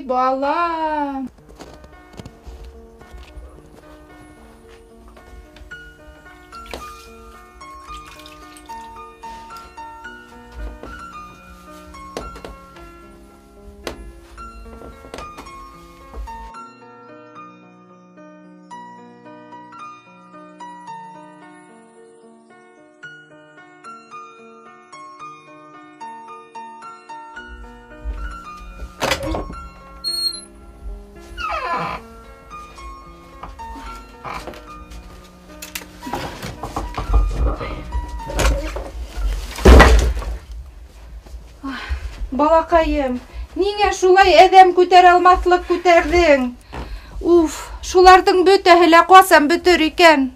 балам. Балаҡайым, ниңә шулай әҙәм күтәрә алмаҫлыҡ күтәрҙең? Уф, шуларҙың бөтәһе лә ҡасан бөтөр икән?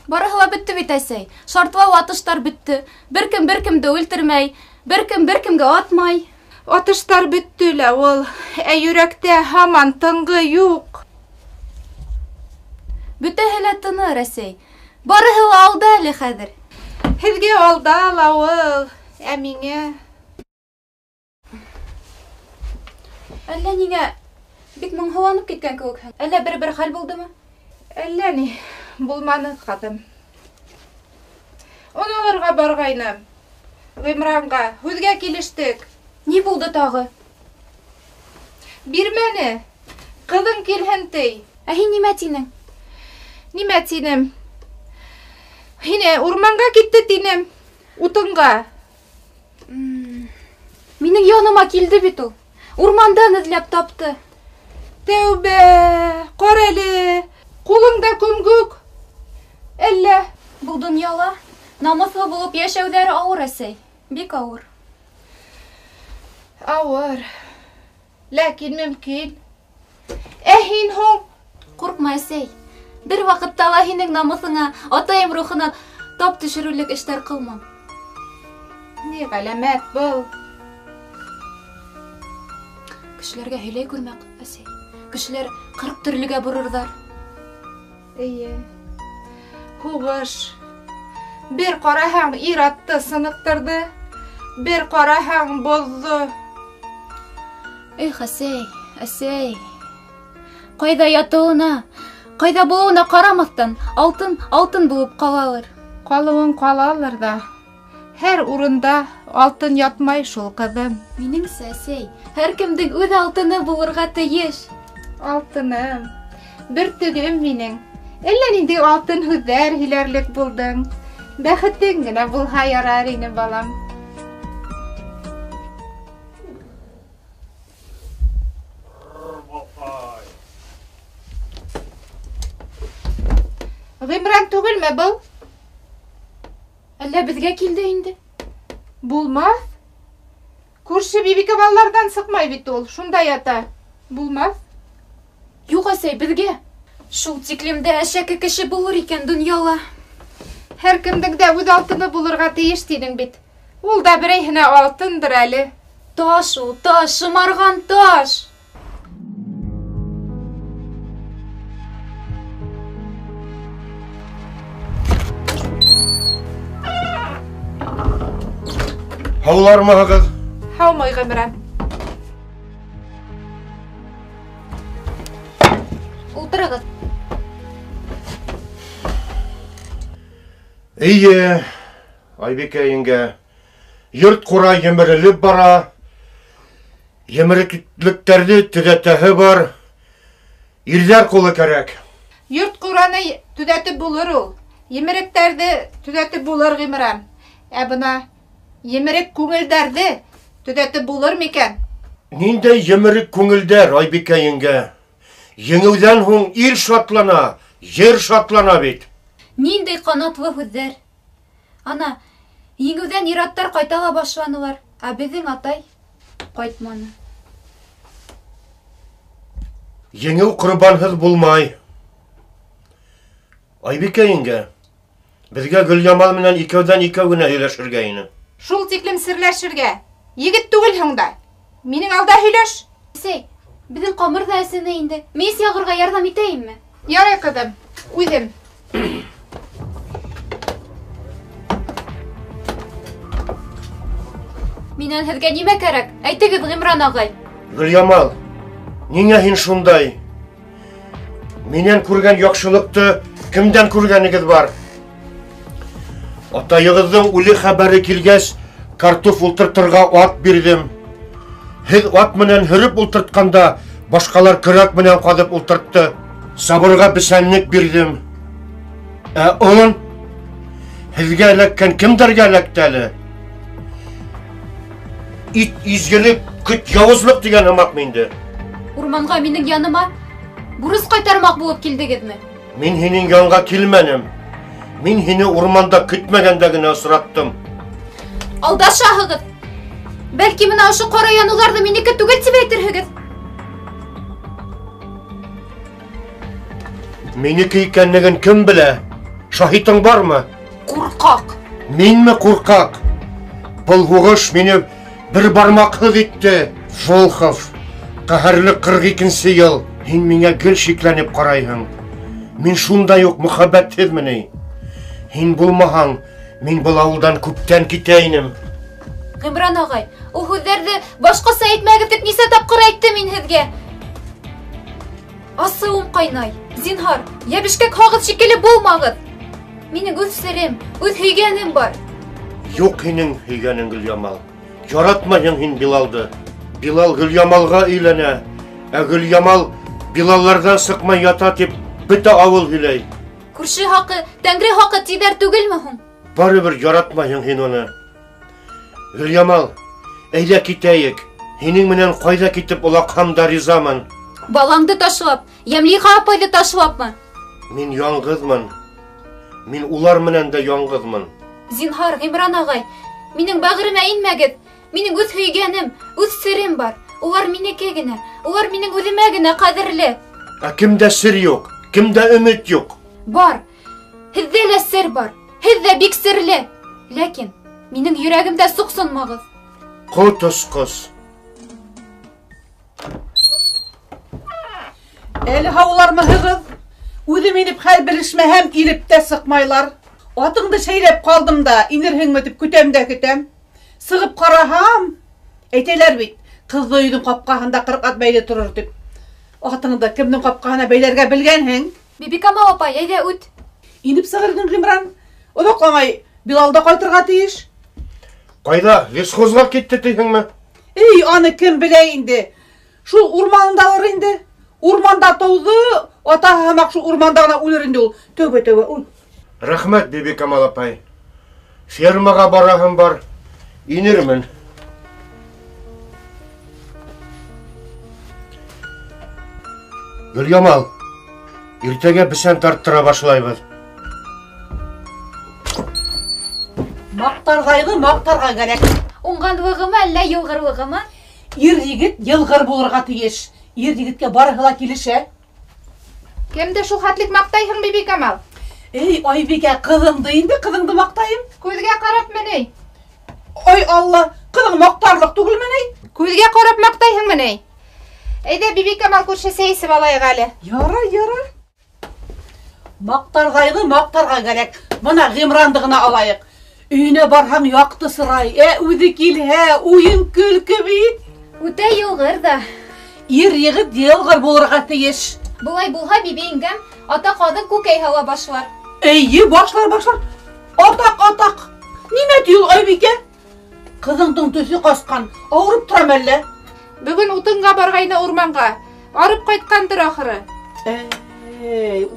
Барыһы ла бөттө бит, әсәй. Шартлау атыштар бөттө. Бер кем бер кемде үлтермәй, бер кем бер кемгә атмай. Атыштар бөттө лә ул, ә йөрәктә һаман тынғы юҡ. Бөтәһе лә тыныр, әсәй. Барыһы ла алда әле хәҙер. Һеҙгә алда ла ул, ә миңә... Әллә ниңә бик моңһоуланып киткән кеүекһең? Әллә бер-бер хәл булдымы? Әллә ни булманы, ҡыҙым. Он алырға барғайным. Ғимранға һүҙгә килештек. Ни булды тағы? Бирмәне. Ҡыҙың килһен ти. Ә һин нимә тинең? Нимә тинем? Һине урманға китте тинем. Утынға. Минең яныма килде бит ул. Урмандан эҙләп тапты. Тәүбә, ҡара әле, ҡулыңда күмгүк. Әллә? Был донъяла намыҫлы булып йәшәүҙәре ауыр, әсәй. Бик ауыр. Ауыр. Ләкин мөмкин. Ә һин һуң? Ҡурҡма, әсәй. Бер ваҡытта ла һинең намыҫыңа, атайым рухына тап төшөрөрлөк эштәр ҡылмам. Ни ғәләмәт был? Кешеләргә һөйләй күрмә, әсәй. Кешеләр 40 төрлөгә борорҙар. Эйе. Һуғыш. Бер ҡараһаң ир-атты сыныҡтырҙы, бер ҡараһаң боҙҙо. Эх, әсәй, әсәй. Ҡайҙа ятыуына, ҡайҙа булыуына ҡарамаҫтан, алтын алтын булып ҡалалыр. Ҡалыуын ҡалалыр ҙа. Һәр урында алтын ятмай шул, ҡыҙым. Минеңсә, әсәй, һәр кемдең үҙ алтыны булырға тейеш. Алтыным, бөртөгөм минең. Әллә ниндәй алтын һүҙҙәр һөйләрлек булдың. Бәхетең генә булһа ярар ине, балам. Ғимран түгелме был? Әллә беҙгә килде инде? Булмаҫ. Күрше Бибикамалларҙан сыҡмай бит ул, шунда ята. Булмаҫ. Юҡ, әсәй, беҙгә. Шул тиклем дә әшәке кеше булыр икән донъяла. Һәр кемдең дә үҙ алтыны булырға тейеш тинең бит. Ул да берәйһенә алтындыр әле. Таш ул, таш, шымарған таш. Һаулармыһығыҙ? Һаумы, Ғимран. Ултырығыҙ. Эйе, Айбикә еңгә, йорт ҡура емерелеп бара. Емереклектәрҙе төҙәтәһе бар. Ирҙәр ҡулы кәрәк. Йорт ҡураны төҙәтеп булыр ул. Емеректәрҙе төҙәтеп булыр, Ғимран. Ә бына емерек күңелдәрҙе төҙәтеп булыр микән? Ниндәй емерек күңелдәр, Айбикә еңгә? Еңеүҙән һуң ир шатлана, ер шатлана бит. Ниндәй ҡанатлы һүҙҙәр. Ана, еңеүҙән ир-аттар ҡайта ла башланылар, ә беҙҙең атай ҡайтманы. Еңеү ҡорбанһыҙ булмай. Айбикә еңгә, беҙгә Гөлйамал менән икәүҙән икәү генә һөйләшергә ине. Шул тиклем серләшергә. Егет түгелһең дә. Минең алда һөйләш. Әсәй, беҙҙең ҡамыр ҙа әсене инде. Мейес яғырға ярҙам итәйемме? Ярай, ҡыҙым, үҙем. Минән һеҙгә нимә кәрәк? Әйтегеҙ, Ғимран ағай. Гөльямал, ниңә һин шундай? Минән күргән яҡшылыҡты кемдән күргәнегеҙ бар? Атайығыҙҙың үле хәбәре килгәс, картоф ултыртырға ат бирҙем. Һеҙ ат менән һөрөп ултыртҡанда, башҡалар көрәк менән ҡаҙып ултыртты. Сабырға бесәнлек бирҙем. Ә он һеҙгә эләккән кемдәргә эләкте әле? Ит изгелек, көт яуызлыҡ тигән һымаҡмы инде? Урманға минең яныма бурыс ҡайтармаҡ булып килдегеҙме? Мин һинең янға килмәнем. Мин һине урманда көтмәгәндә генә осраттым. Алдашаһығыҙ. Бәлки бына ошо ҡара яныуҙарҙы минеке түгел тип әйтерһегеҙ. Минеке икәнлеген кем белә? Шаһитың бармы? Ҡурҡаҡ. Минме ҡурҡаҡ? Был һуғыш мине бер бармаҡһыҙ итте. Волхов, ҡәһәрле 42-нсе йыл. Һин миңә гел шикләнеп ҡарайһың. Мин шундай уҡ мөхәббәтһеҙме ни? Һин булмаһаң, мин был ауылдан күптән китә инем. Ғимран ағай, ул һүҙҙәрҙе башҡаса әйтмәгеҙ тип нисә тапҡыр әйттем мин һеҙгә. Асыуым ҡайнай. Зинһар, йәбешкәк һағыҙ шикелле булмағыҙ. Минең үҙ серем, үҙ һөйгәнем бар. Юҡ һинең һөйгәнең, Гөльямал. Яратмайһың һин Билалды. Билал Гөльямалға өйләнә. Ә Гөльямал Билалларҙан сыҡмай ята тип бөтә ауыл һөйләй. Күрше хаҡы, тәңре хаҡы тиҙәр түгелме һуң? Барыбер яратмайһың һин уны. Гөльямал, әйҙә китәйек. Һинең менән ҡайҙа китеп олаҡһам да ризамын. Балаңды ташлап, Йәмлиха апайҙы ташлапмы? Мин яңғыҙмын. Мин улар менән дә яңғыҙмын. Зинһар, Ғимран ағай, минең бәғеремә инмәгеҙ. Минең үҙ һөйгәнем, үҙ серем бар. Улар минеке генә, улар минең үҙемә генә ҡәҙерле. Ә кемдә сер юҡ, кемдә өмөт юҡ? Бар, һеҙҙә лә сер бар, һеҙ ҙә бик серле. Ләкин минең йөрәгемдә суҡсынмағыҙ. Ҡот осҡос. Әле һаулармыһығыҙ? Үҙем инеп хәл белешмәһәм, илеп тә сыҡмайлар. Атыңды шәйләп ҡалдым да, инерһеңме тип көтәм дә көтәм. Сығып ҡараһам, әйтәләр бит, ҡыҙҙы өйҙөң ҡапҡаһында 40 ат бәйле торор тип. Атыңды кемдең ҡапҡаһына бәйләргә белгәнһең? Бибикамал апай, әйҙә үт. Инеп сығыр инең, Ғимран. Оҙаҡламай Билал да ҡайтырға тейеш. Ҡайҙа, лесхозға китте тиһеңме? Эй, аны кем белә инде? Шул урманындалыр инде. Урманда тыуҙы, атаһы һымаҡ шул урманда ғына үлер инде ул. Тәүбә, тәүбә, ул. Рәхмәт, Бибикамал апай. Фермаға бараһым бар. Инермен. Гөльямал, иртәгә бесән тарттыра башлайбыҙ. Маҡтарғайҙы маҡтарға кәрәк. Уңғанлығымы әллә йылғырлығымы? Ир егет йылғыр булырға тейеш. Ир егеткә барыһы ла килешә. Кемде шул хәтлек маҡтайһың, Бибикамал? Эй, Айбикә, ҡыҙыңды инде, ҡыҙыңды маҡтайым. Күҙгә ҡарапмы ни? Ай Алла, ҡыҙың маҡтарлыҡ түгелме ни? Күҙгә ҡарап маҡтайһыңмы ни? Әйҙә, Бибикамал күрше, сәй эсеп алайыҡ әле. Ярай, ярай. Маҡтарғайҙы маҡтарға кәрәк. Бына Ғимранды ғына алайыҡ. Өйөнә барһаң яҡты сырай, ә үҙе килһә уйын көлкө бит. Үтә йылғыр ҙа. Ир егет йылғыр булырға тейеш. Былай булһа, Биби еңгәм, ата ҡаҙын күкәй һала башлар. Эйе, башлар, башлар. Атаҡ, атаҡ. Нимә ти ул, Айбикә? Ҡыҙыңдың төҫө ҡасҡан, ауырып торам әллә? Бөгөн утынға барғайны урманға. Арып ҡайтҡандыр ахыры. Эй.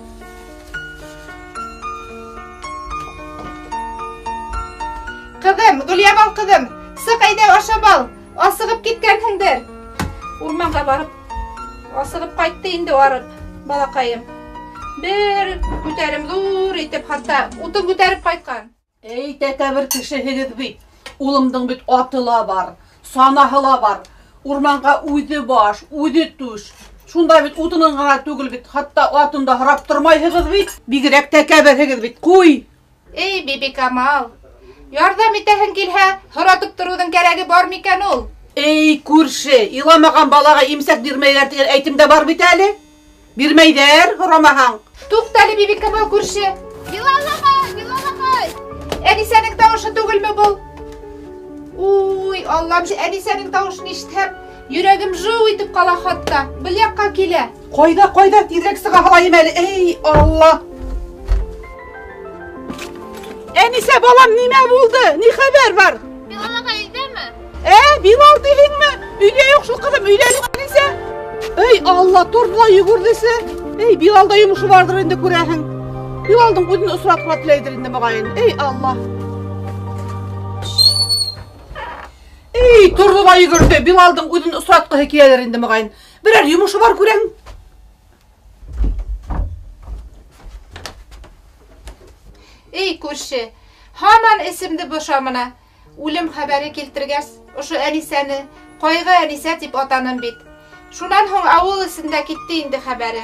Ҡыҙым, Гөльямал ҡыҙым, сыҡ әйҙә ашап ал. Асығып киткәнһеңдер. Урманға барып, асығып ҡайтты инде арып, балаҡайым. Бер күтәрем ҙур итеп, хатта утын күтәреп ҡайтҡан. Эй, тәкәббер кешеһегеҙ бит. Улымдың бит аты ла бар, санаһы ла бар. Урманға үҙе баш, үҙе түш. Шунда бит утынын ғына түгел бит, хатта атын да һорап тормайһығыҙ бит. Бигерәк тәкәбберһегеҙ бит. Ҡуй. Эй, Бибикамал, ярҙам итәһең килһә, һоратып тороуҙың кәрәге бар микән ул? Эй, күрше, иламаған балаға имсәк бирмәйҙәр тигән әйтем дә бар бит әле. Бирмәйҙәр, һорамаһаң. Туҡта әле, Бибикамал күрше. Билал ағай, Билал ағай. Әнисәнең тауышы түгелме был? Уй, Аллам, Әнисәнең тауышын ишетһәм, Йөрәгем жыу итеп ҡала хатта. Был яҡҡа килә. Ҡайҙа, ҡайҙа, тиҙерәк сыға һалайым әле. Эй, Алла! Әнисә, балам, нимә булды? Ни хәбәр бар? Билал ағай өйҙәме? Билал тиһеңме? Өйҙә юҡ шул, ҡыҙым, өйҙә юҡ, Әнисә. Эй, Алла, торҙо ла йүгерҙесе. Эй, Билалда йомошо барҙыр инде, күрәһең. Билалдың үҙен осратырға теләйҙер инде, моғайын. Эй, Алла! Эй, торҙо ла йүгерҙе. Билалдың үҙен осратҡыһы киләлер инде, моғайын. Берәр йомошо бар, күрәң. Эй, күрше, һаман эсемде боша мына. Үлем хәбәре килтергәс, ошо Әнисәне Ҡайғы Әнисә тип атаным бит. Шунан һуң ауыл эсендә китте инде хәбәре.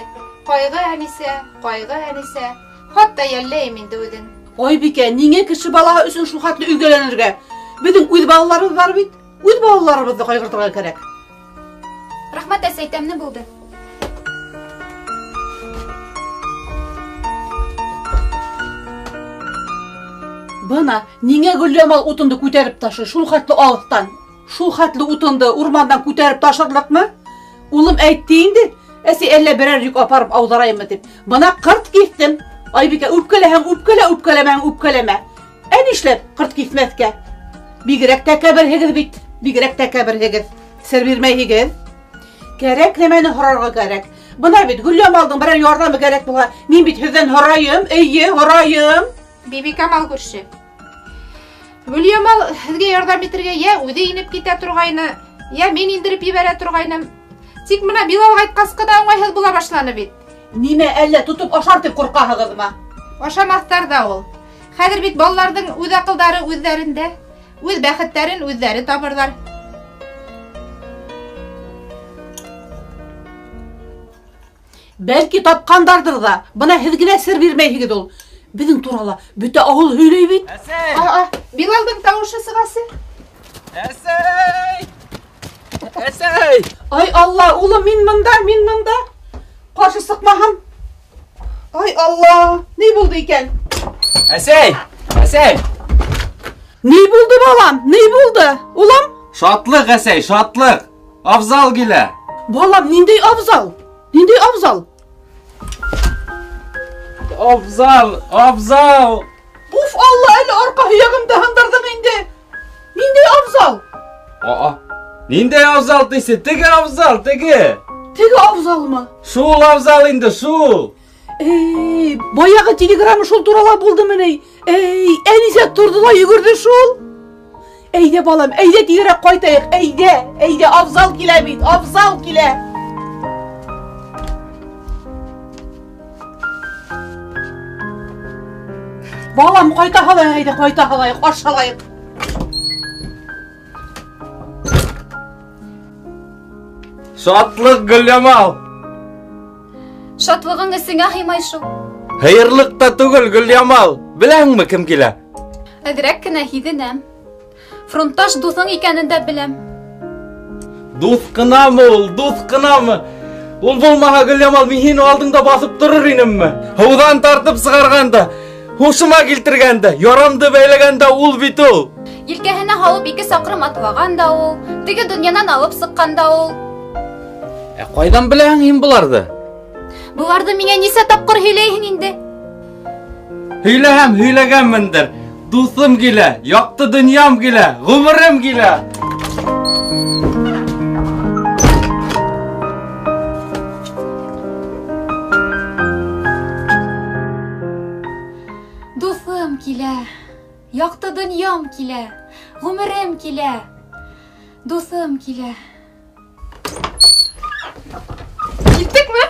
Ҡайғы Әнисә, Ҡайғы Әнисә. Хатта йәлләйем инде үҙен. Айбикә, ниңә кеше балаһы өсөн шул хәтле өйгәләнергә? Беҙҙең үҙ балаларыбыҙ бар бит. Үҙ балаларыбыҙҙы ҡайғыртырға кәрәк. Рәхмәт, әсәй, тәмле булды. Бына, ниңә Гөлйамал утынды күтәреп ташый шул хәтле алыҫтан? Шул хәтле утынды урмандан күтәреп ташырлыҡмы? Улым әйтте инде, әсәй, әллә берәр йөк апарып ауҙарайыммы тип. Бына ҡырт киҫтем. Айбикә, үпкәләһәң үпкәлә, үпкәләмәһәң үпкәләмә. Ә нишләп ҡырт киҫмәҫкә? Бигерәк тәкәбберһегеҙ бит, бигерәк тәкәбберһегеҙ. Сер бирмәйһегеҙ. Кәрәк нәмәне һорарға кәрәк. Бына бит Гөлйамалдың берәр ярҙамы кәрәк булһа, мин бит һеҙҙән һорайым, эйе, һорайым. Бибикамал күрше. Гөлйамал һеҙгә ярҙам итергә йә үҙе инеп китә торғайны, йә мин индереп ебәрә торғайным. Тик мына Билал ҡайтҡас ҡына уңайһыҙ була башланы бит. Нимә, әллә тотоп ашар тип ҡурҡаһығыҙмы? Ашамаҫтар ҙа ул. Хәҙер бит балаларҙың үҙ аҡылдары үҙҙәрендә, үҙ бәхеттәрен үҙҙәре табырҙар. Бәлки тапҡандарҙыр ҙа. Бына һеҙ генә сер бирмәйһегеҙ ул. Беҙҙең турала бөтә ауыл һөйләй бит. Әсәй! Билалдың тауышы сығасы. Әсәй! Әсәй! Ай Алла, улым, мин мында, мин мында. Ҡаршы сыҡмаһам. Ай Алла, ни булды икән? Әсәй! Әсәй! Ни булды, балам? Ни булды? Улым? Шатлыҡ, әсәй, шатлыҡ. Абзал килә. Балам, ниндәй абзал? Ниндәй абзал? Абзал, абзал. Уф, Алла, әле арҡа һөйәгемде һындырҙың инде. Ниндәй абзал? Ниндәй абзал тисе? Теге абзал, теге. Теге абзалмы? Шул абзал инде, шул. Эй, баяғы телеграмма шул турала булдымы ни? Эй, Әнисә торҙо ла йүгерҙе шул. Әйҙә, балам, әйҙә тиҙерәк ҡайтайыҡ, әйҙә, әйҙә, абзал килә бит, абзал килә. Балам, ҡайта һалайыҡ, әйҙә, ҡайта һалайыҡ, аш һалайыҡ. Шатлыҡ, Гөлйамал. Шатлығың эсеңә һыймай шул. Һыйырлыҡ та түгел, Гөлйамал. Беләһеңме кем килә? Әҙерәк кенә һиҙенәм. Фронтташ дуҫың икәнен дә беләм. Дуҫ ҡынамы ул, дуҫ ҡынамы? Ул булмаһа, Гөлйамал, мин һине алдыңда баҫып торор инемме? Һыуҙан тартып сығарғанда, һушыма килтергәндә, ярамды бәйләгәндә ул бит ул. Елкәһенә һалып 2 саҡрым атлаған да ул, теге донъянан алып сыҡҡан да ул. Ә ҡайҙан беләһең һин быларҙы? Быларҙы миңә нисә тапҡыр һөйләйһең инде? Һөйләһәм, һөйләгәнмендер. Дуҫым килә, яҡты донъям килә, ғүмерем килә. Дуҫым килә, яҡты донъям килә, ғүмерем килә, дуҫым килә. Киттекме?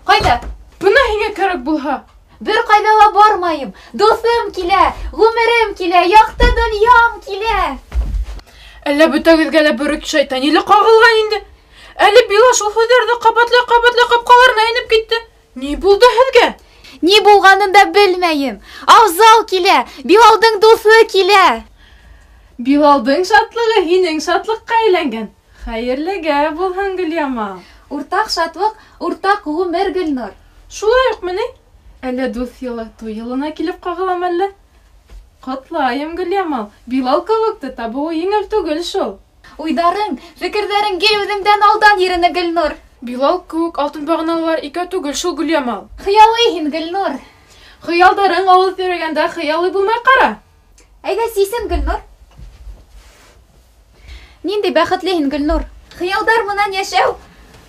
Ҡайҙа? Бына һиңә кәрәк булһа. Бер ҡайҙа ла бармайым. Дуҫым килә, ғүмерем килә, яҡты донъям килә. Әллә бөтәгеҙгә лә бер үк шайтан еле ҡағылған инде. Әле Билал шул һүҙҙәрҙе ҡабатлай-ҡабатлай ҡапҡаларына инеп китте. Ни булды һеҙгә? Ни булғанын да белмәйем. Абзал килә, Билалдың дуҫы килә. Билалдың шатлығы һинең шатлыҡҡа әйләнгән. Хәйерлегә булһын, Гөлйамал. Уртаҡ шатлыҡ, уртаҡ ғүмер, Гөлнур. Шулай уҡмы ни? Әллә дуҫ йылы туй йылына килеп ҡағылам әллә? Ҡотлайым, Гөлйамал. Билал кеүекте табыуы еңел түгел шул. Уйҙарың, фекерҙәрең гел үҙеңдән алдан йөрөнө, Гөлнур. Билал кеүек алтын бағаналар икәү түгел шул, Гөлъямал. Хыялый һин, Гөлнур. Хыялдарың алыҫ йөрөгәндә хыялый булмай ҡара. Әйҙә сисен, Гөлнур. Ниндәй бәхетле һин, Гөлнур. Хыялдар менән йәшәү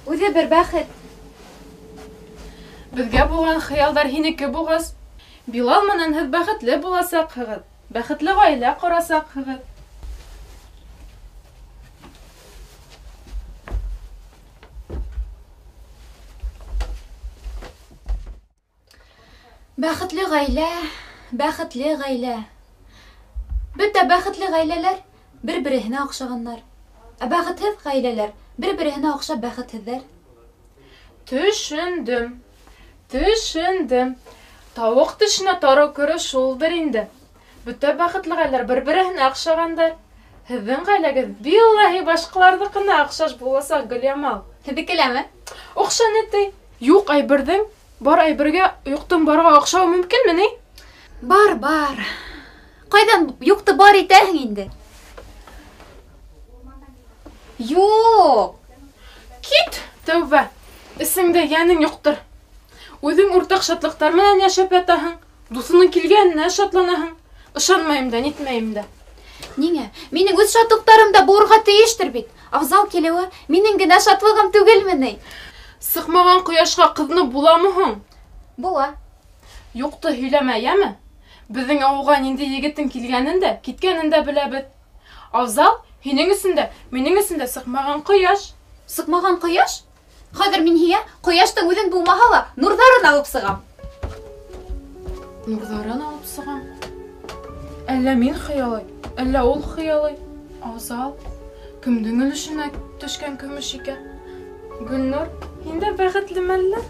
үҙе бер бәхет. Беҙгә булған хыялдар һинеке булғас, Билал менән һеҙ бәхетле буласаҡһығыҙ, бәхетле ғаилә ҡорасаҡһығыҙ. Бәхетле ғаилә, бәхетле ғаилә. Бөтә бәхетле ғаиләләр бер-береһенә оҡшағандар. Ә бәхетһеҙ ғаиләләр бер-береһенә оҡшап бәхетһеҙҙәр. Төшөндөм, төшөндөм. Тауыҡ төшөнә тарыу кереү шулдыр инде. Бөтә бәхетле ғаиләләр бер-береһенә оҡшағандар. Һеҙҙең ғаиләгеҙ биллаһи башҡаларҙыҡына оҡшаш буласаҡ, Гөлъямал. Һеҙҙекеләме? Оҡшаны ти. Юҡ әйберҙең бар әйбергә юҡтың барға оҡшауы мөмкинме ни? Бар, бар. Ҡайҙан юҡты бар итәһең инде? Юҡ. Кит, тәүбә. Эсеңдә йәнең юҡтыр. Үҙең уртаҡ шатлыҡтар менән йәшәп ятаһың, дуҫының килгәненә шатланаһың. Ышанмайым да, нитмәйем дә. Ниңә? Минең үҙ шатлыҡтарым да булырға тейештер бит. Афзал килеүе минең генә шатлығым түгелме ни? Сыҡмаған ҡояшҡа ҡыҙынып буламы һуң? Була. Юҡты һөйләмә, йәме? Беҙҙең ауылға ниндәй егеттең килгәнен дә, киткәнен дә беләбеҙ. Афзал, һинең өсөн дә, минең өсөн дә сыҡмаған ҡояш. Сыҡмаған ҡояш? Хәҙер мин һиңә ҡояштың үҙен булмаһа ла нурҙарын алып сығам. Нурҙарын алып сығам? Әллә мин хыялый, әллә ул хыялый. Афзал, кемдең өлөшөнә төшкән көмөш икән? Гөлнур, һин дә бәхетлеме әллә?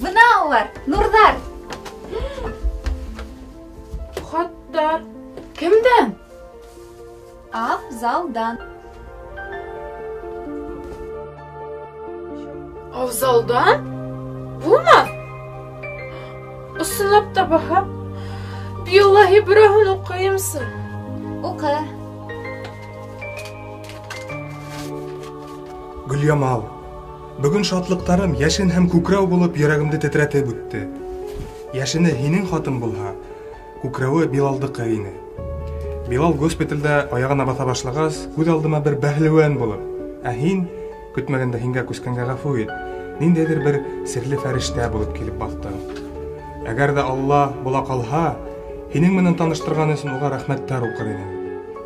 Бына улар, нурҙар. Хаттар. Кемдән? Афзалдан. Афзалдан? Булмаҫ. Ысынлап та баһа. Биллаһи, берәүһен уҡыйымсы. Уҡы. Гөлъямал, бөгөн шатлыҡтарым йәшен һәм күкрәү булып йөрәгемде тетрәтеп үтте. Йәшене һинең хатын булһа, күкрәүе Билалдыҡы ине. Билал госпиталдә аяғына баҫа башлағас, күҙ алдыма бер бәһлеүән булып, ә һин, көтмәгәндә һиңә күскәнгә ғәфү ит, ниндәйҙер бер серле фәрештә булып килеп баҫтың. Әгәр ҙә Алла була ҡалһа, һинең менән таныштырған өсөн уға рәхмәттәр уҡыр инем.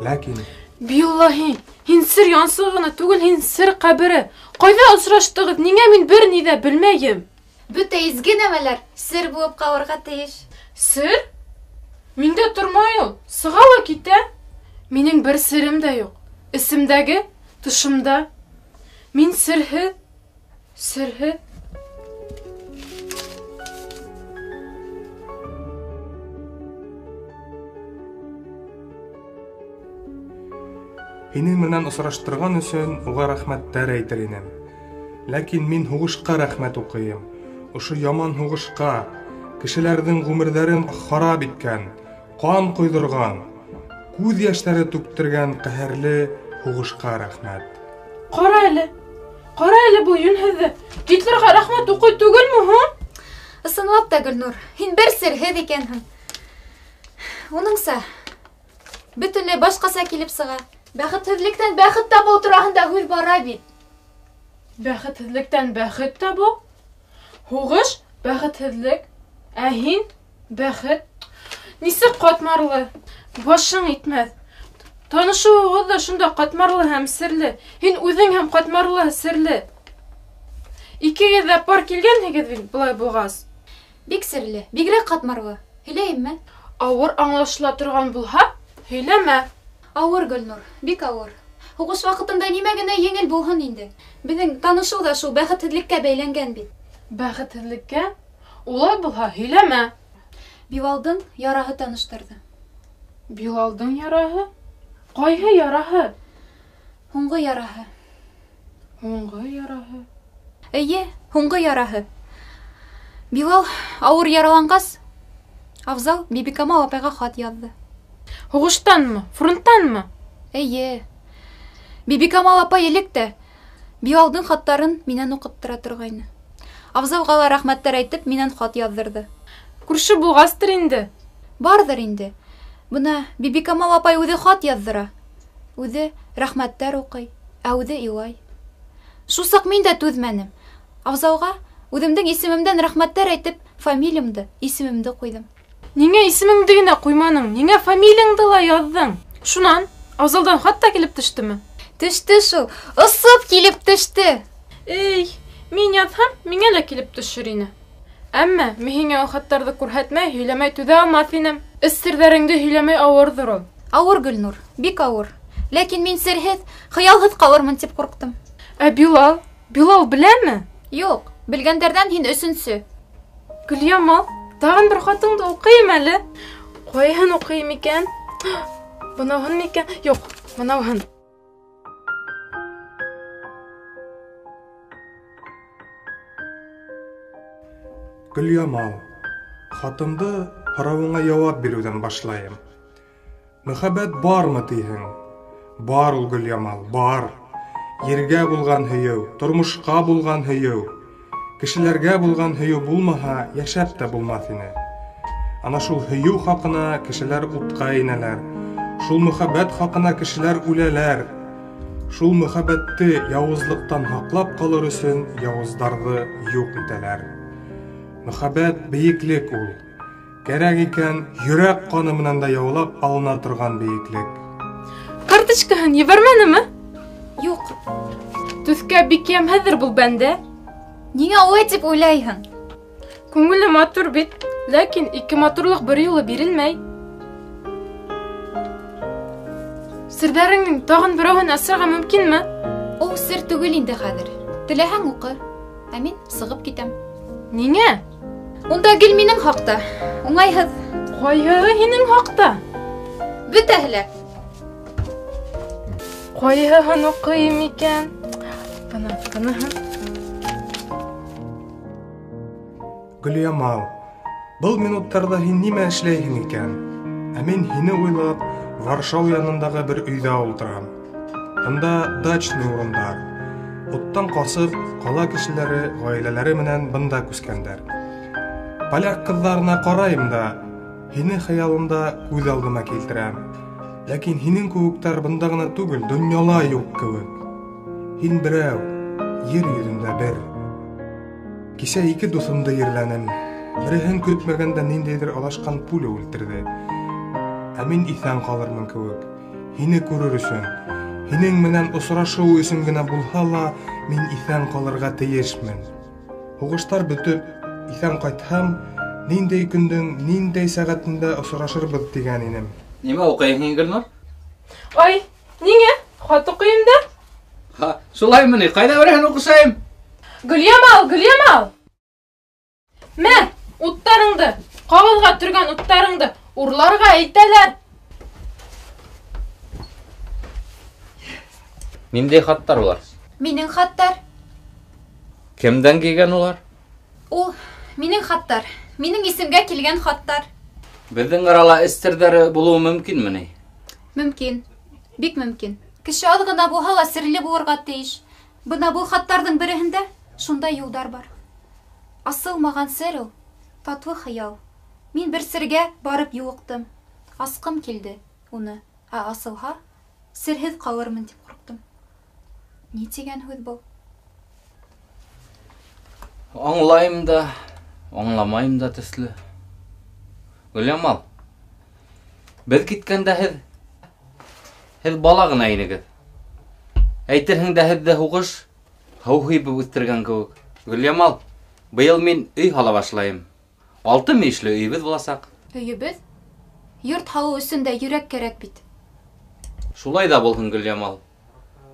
Ләкин Биллаһи, һин сер янсығы ғына түгел, һин сер ҡәбере. Ҡайҙа осраштығыҙ? Ниңә мин бер ни ҙә белмәйем? Бөтә изге нәмәләр сер булып ҡалырға тейеш. Сер? Миндә тормай ул, сыға ла китә. Минең бер серем дә юҡ. Эсемдәге, тышымда. Мин серһеҙ, серһеҙ. Һинең менән осраштырған өсөн уға рәхмәттәр әйтер инем. Ләкин мин һуғышҡа рәхмәт уҡыйым. Ошо яман һуғышҡа, кешеләрҙең ғүмерҙәрен харап иткән, ҡан ҡойҙорған, күҙ йәштәре түктергән ҡәһәрле һуғышҡа рәхмәт. Ҡара әле, ҡара әле был йүнһеҙҙе. Гитлерға рәхмәт уҡый түгелме һуң? Ысынлап та, Гөлнур, һин бер серһеҙ икәнһең. Уныңса, бөтөнләй башҡаса килеп сыға. Бәхетһеҙлектән бәхет табыу тураһында һүҙ бара бит. Бәхетһеҙлектән бәхет табыу? Һуғыш бәхетһеҙлек, ә һин бәхет. Нисек ҡатмарлы, башың итмәҫ. Танышыуығыҙ ҙа шунда ҡатмарлы һәм серле. Һин үҙең һәм ҡатмарлы, серле. Икегеҙ ҙә пар килгәнһегеҙ бит былай булғас. Бик серле, бигерәк ҡатмарлы. Һөйләйемме? Ауыр аңлашыла торған булһа, һөйләмә. Ауыр, Гөлнур, бик ауыр. Һуғыш ваҡытында нимә генә еңел булһын инде. Беҙҙең танышыу ҙа шул бәхетһеҙлеккә бәйләнгән бит. Бәхетһеҙлеккә? Улай булһа, һөйләмә. Билалдың яраһы таныштырҙы. Билалдың яраһы? Ҡайһы яраһы? Һуңғы яраһы. Һуңғы яраһы? Эйе, һуңғы яраһы. Билал ауыр яраланғас, Афзал Бибикамал апайға хат яҙҙы. Һуғыштанмы? Фронттанмы? Эйе. Бибикамал апай элек тә Билалдың хаттарын минән уҡыттыра торғайны. Афзалға ла рәхмәттәр әйтеп, минән хат яҙҙырҙы. Күрше булғастыр инде. Барҙыр инде. Бына Бибикамал апай үҙе хат яҙҙыра. Үҙе рәхмәттәр уҡый, ә үҙе илай. Шул саҡ мин дә түҙмәнем. Афзалға үҙемдең исемемдән рәхмәттәр әйтеп, фамилиямды, исемемде ҡуйҙым. Ниңә исемеңде генә ҡуйманың? Ниңә фамилияңды ла яҙҙың? Шунан Афзалдан хат та килеп төштөмө? Төштө шул, осоп килеп төштө. Эй, мин яҙһам, миңә лә килеп төшөр ине. Әммә мин һиңә ул хаттарҙы күрһәтмәй, һөйләмәй түҙә алмаҫ инем. Эс серҙәреңде һөйләмәй ауырҙыр ул. Ауыр, Гөлнур, бик ауыр. Ләкин мин серһеҙ, хыялһыҙ ҡалырмын тип ҡурҡтым. Ә Билал? Билал беләме? Юҡ, белгәндәрҙән һин өсөнсө. Гөлйамал, тағын бер хатыңды уҡыйым әле. Ҡайһын уҡыйым икән? Бынауһын микән? Юҡ, бынауһын. Гөлйамал, хатымды һорауыңа яуап биреүҙән башлайым. Мөхәббәт бармы тиһең? Бар ул, Гөлйамал, бар. Ергә булған һөйөү, тормошҡа булған һөйөү, кешеләргә булған һөйөү булмаһа, йәшәп тә булмаҫ ине. Ана шул һөйөү хаҡына кешеләр утҡа инәләр, шул мөхәббәт хаҡына кешеләр үләләр. Шул мөхәббәтте яуызлыҡтан һаҡлап ҡалыр өсөн яуыздарҙы юҡ итәләр. Мөхәббәт бейеклек ул. Кәрәк икән, йөрәк ҡаны менән дә яулап алына торған бейеклек. Карточкаһын ебәрмәнеме? Юҡ. Төҫкә бик йәмһеҙҙер был бәндә. Ниңә улай тип уйлайһың? Күңеле матур бит, ләкин ике матурлыҡ бер юлы бирелмәй. Серҙәреңдең тағын берәүһен асырға мөмкинме? Ул сер түгел инде хәҙер. Теләһәң уҡы, ә мин сығып китәм. Ниңә? Унда гел минең хаҡта. Уңайһыҙ. Ҡайһыһы һинең хаҡта? Бөтәһе лә. Ҡайһыһын уҡыйым икән? Бына, быныһын. Гөлйамал, был минуттарҙа һин нимә эшләйһең икән? Ә мин һине уйлап, Варшау янындағы бер өйҙә ултырам. Бында дачный урындар. Уттан ҡасып, ҡала кешеләре ғаиләләре менән бында күскәндәр. Поляк ҡыҙҙарына ҡарайым да, һине хыялымда күҙ алдыма килтерәм. Ләкин һинең кеүектәр бында ғына түгел, донъяла юҡ кеүек. Һин берәү, ер йөҙөндә бер. Кисә ике дуҫымды ерләнем. Береһен көтмәгәндә ниндәйҙер алашҡан пуля үлтерҙе. Ә мин иҫән ҡалырмын кеүек. Һине күрер өсөн, һинең менән осрашыу өсөн генә булһа ла, мин иҫән ҡалырға тейешмен. Һуғыштар бөтөп, иҫән ҡайтһам, ниндәй көндөң, ниндәй сәғәтендә осрашырбыҙ тигән инем. Нимә уҡыйһың һин, Гөлнур? Ай, ниңә? Хат уҡыйым да. Ха, шулаймы ни? Ҡайҙа береһен уҡышайым? Гөлйамал, Гөлйамал! Мә, уттарыңды, ҡағыҙға төргән уттарыңды урларға әйтәләр. Ниндәй хаттар улар? Минең хаттар. Кемдән килгән улар? Ул минең хаттар. Минең исемгә килгән хаттар. Беҙҙең арала эс серҙәре булыуы мөмкинме ни? Мөмкин. Бик мөмкин. Кеше аҙ ғына булһа ла серле булырға тейеш. Бына был хаттарҙың береһендә шундай юлдар бар. Асылмаған сер ул, татлы хыял. Мин бер сергә барып юлыҡтым. Асҡым килде уны, ә асылһа, серһеҙ ҡалырмын тип ҡурҡтым. Ни тигән һүҙ был? Аңлайым да, аңламайым да төҫлө. Гөлйамал, беҙ киткәндә һеҙ бала ғына инегеҙ. Әйтерһең дә һеҙҙе һуғыш һыу һибеп үҫтергән кеүек. Гөлйамал, быйыл мин өй һала башлайым. 6 мөйөшлө өйөбөҙ буласаҡ. Өйөбөҙ? Йорт һалыу өсөн дә йөрәк кәрәк бит. Шулай ҙа булһын, Гөлйамал.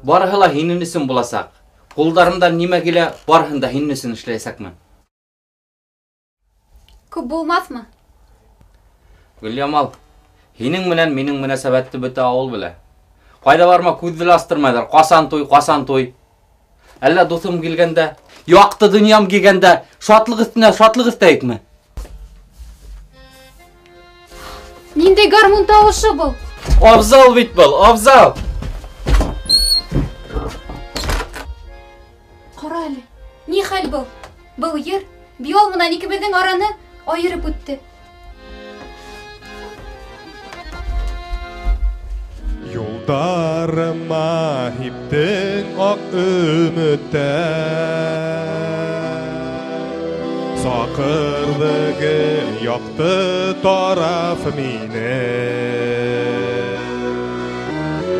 Барыһы ла һинең өсөн буласаҡ. Ҡулдарымдан нимә килә, барыһын да һинең өсөн эшләйәсәкмен. Күп булмаҫмы? Гөлйамал, һинең менән минең мөнәсәбәтте бөтә ауыл белә. Ҡайҙа барма күҙҙе лә астырмайҙар. Ҡасан туй, ҡасан туй. Әллә дуҫым килгәндә, яҡты донъям килгәндә, шатлыҡ өҫтөнә шатлыҡ өҫтәйекме? Ниндәй гармун тауышы был? Абзал бит был, Абзал! Ҡара әле, ни хәл был? Был йыр Билал менән икебеҙҙең араны айырып үтте. Юлдарыма һиптең аҡ өмөттәр, Саҡырҙы гел яҡты тараф мине.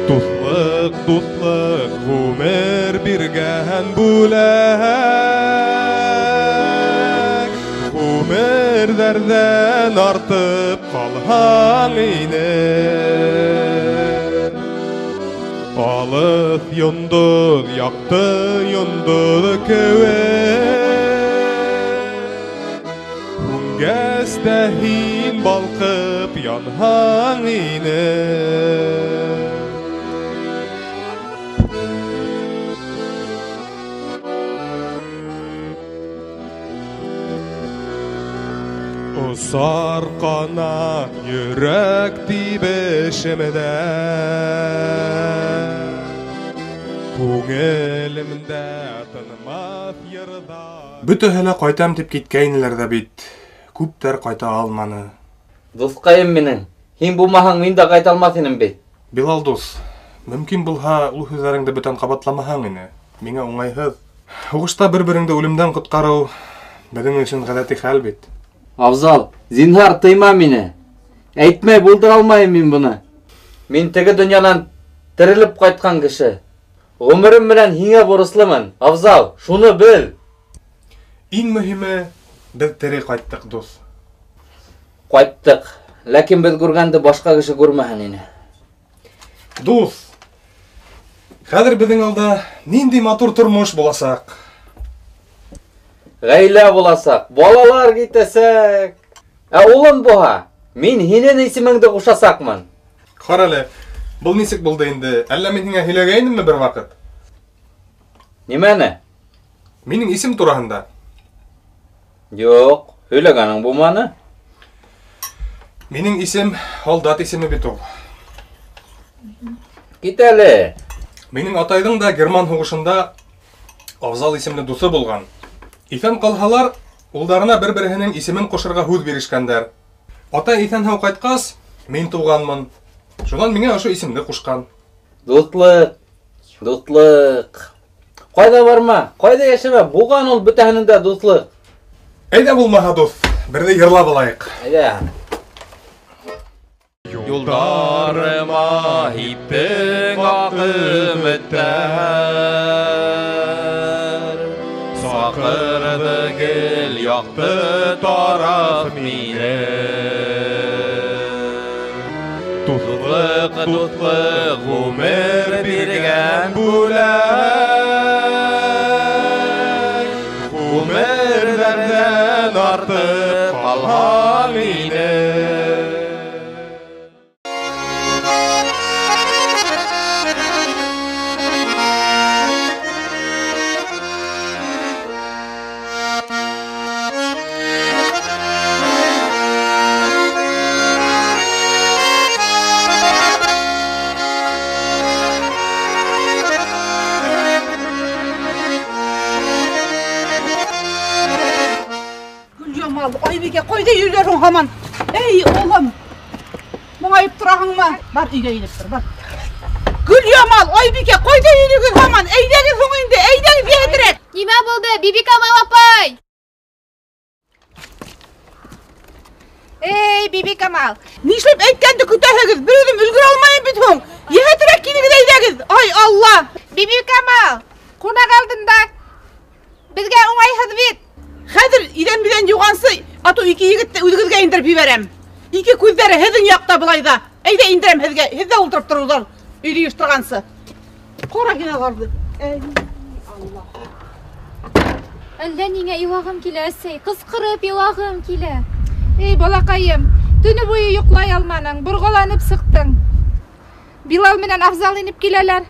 Дуҫлыҡ, дуҫлыҡ, ғүмер биргән бүләк, Ғүмерҙәрҙән артып ҡалһаң ине. Алыҫ йондоҙ, яҡты йондоҙ кеүек, Һүнгәс тә һин балҡып янһаң ине. Осар ҡанат йөрәк тибешемдә, Күңелемдә тынмаҫ йырҙар. Бөтәһе лә ҡайтам тип киткәйнеләр ҙә бит, күптәр ҡайта алманы. Дуҫҡайым минең, һин булмаһаң мин дә ҡайта алмаҫ инем бит. Билал дуҫ, мөмкин булһа ул һүҙҙәреңде бүтән ҡабатламаһаң ине. Миңә уңайһыҙ. Һуғышта бер-береңде үлемдән ҡотҡарыу беҙҙең өсөн ғәҙәти хәл бит. Абзал, зинһар тыйма мине. Әйтмәй булдыра алмайым мин быны. Мин теге донъянан терелеп ҡайтҡан кеше. Ғүмерем менән һиңә бурыслымын. Абзал, шуны бел. Иң мөһиме, беҙ тере ҡайттыҡ, дуҫ. Ҡайттыҡ. Ләкин беҙ күргәнде башҡа кеше күрмәһен ине. Дуҫ, хәҙер беҙҙең алда ниндәй матур тормош буласаҡ. Ғаилә буласаҡ, балалар китәсәк. Ә улым булһа, мин һинең исемеңде ҡушасаҡмын. Ҡара әле, был нисек булды инде? Әллә мин һиңә һөйләгәйнемме бер ваҡыт? Нимәне? Минең исем тураһында. Юҡ, һөйләгәнең булманы. Минең исем һалдат исеме бит ул. Кит әле. Минең атайҙың да герман һуғышында Абзал исемле дуҫы булған. Иҫән ҡалһалар, улдарына бер-береһенең исемен ҡушырға һүҙ бирешкәндәр. Атай иҫән-һау ҡайтҡас, мин тыуғанмын. Шунан миңә ошо исемде ҡушҡан. Дуҫлыҡ, дуҫлыҡ. Ҡайҙа барма, ҡайҙа йәшәмә, булған ул бөтәһенең дә дуҫлыҡ. Әйҙә булмаһа, дуҫ, берҙе йырлап алайыҡ. Әйҙә. Юлдарыма һиптең аҡ өмөттәр, Саҡырҙы гел яҡты тараф мине. Дуҫлыҡ, дуҫлыҡ, ғүмер биргән бүләк, Ғүмерҙәрҙән артып ҡалһаң ине. Айбикә, ҡайҙа йөрөйһөң һаман? Эй, улым, моңайып тораһыңмы? Бар, өйгә инеп тор, бар. Гөлйамал, Айбикә, ҡайҙа йөрөйһөгөҙ һаман? Әйҙәгеҙ һуң инде, әйҙәгеҙ йәһәтерәк. Нимә булды, Бибикамал апай? Эй, Бибикамал, нишләп әйткәнде көтәһегеҙ? Бер үҙем өлгөрә алмайым бит һуң. Йәһәтерәк килегеҙ, әйҙәгеҙ. Ай, Алла! Бибикамал, ҡунаҡ алдында беҙгә уңайһыҙ бит. Хәҙер иҙән-биҙән юғансы, ату ике егетте үҙегеҙгә индереп ебәрәм. Ике күҙҙәре һеҙҙең яҡта былай ҙа. Әйҙә индерәм һеҙгә, һеҙ ҙә ултырып тороуҙар өйҙө йыйыштырғансы. Ҡара һин аларҙы. Эй, Алла. Әллә ниңә илағым килә, әсәй, ҡысҡырып илағым килә. Эй, балаҡайым, төнө буйы йоҡлай алманың, борғоланып сыҡтың. Билал менән Афзал инеп киләләр.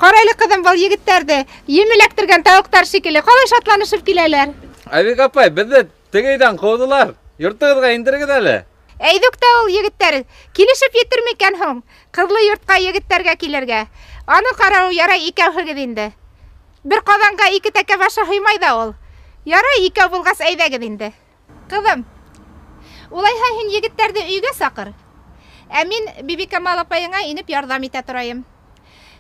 Ҡара әле, ҡыҙым, был егеттәрҙе ем эләктергән тауыҡтар шикелле ҡалай шатланышып киләләр. Айбик апай, беҙҙе теге өйҙән ҡыуҙылар. Йортоғоҙға индерегеҙ әле. Әйҙүк тә ул егеттәр килешеп етер микән һуң? Ҡыҙлы йортҡа егеттәргә килергә. Аны ҡарау ярай икәүһегеҙ инде. Бер ҡаҙанға ике тәкә башы һыймай ҙа ул. Ярай икәү булғас әйҙәгеҙ инде. Ҡыҙым, улайһа һин егеттәрҙе өйгә саҡыр. Ә мин Бибикамал апайыңа инеп ярҙам итә торайым.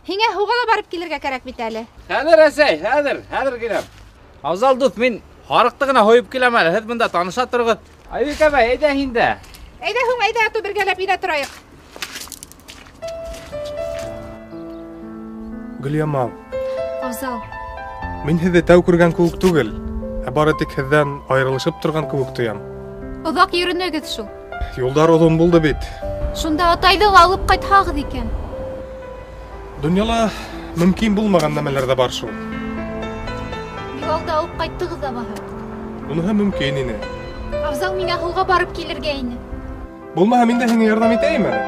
Һиңә һыуға ла барып килергә кәрәк бит әле. Хәҙер, әсәй, хәҙер киләм. Афзал дуҫ, мин һарыҡты ғына һойоп киләм әле. Һеҙ бында таныша тороғоҙ. Айбикә әбәй, әйҙә һин дә. Әйҙә һуң, әйҙә, ату бергәләп инә торайыҡ. Гөлйамал. Афзал. Мин һеҙҙе тәү күргән кеүек түгел, ә бары тик һеҙҙән айырылышып торған кеүек тоям. Оҙаҡ йөрөнөгөҙ шул. Юлдар оҙон булды бит. Шунда атайҙы ла алып ҡайтһағыҙ икән. Донъяла мөмкин булмаған нәмәләр ҙә бар шул. Билалды алып ҡайттығыҙ ҙа баһа. Уныһы мөмкин ине. Афзал, миңә һыуға барып килергә ине. Булмаһа, мин дә һиңә ярҙам итәйем әле.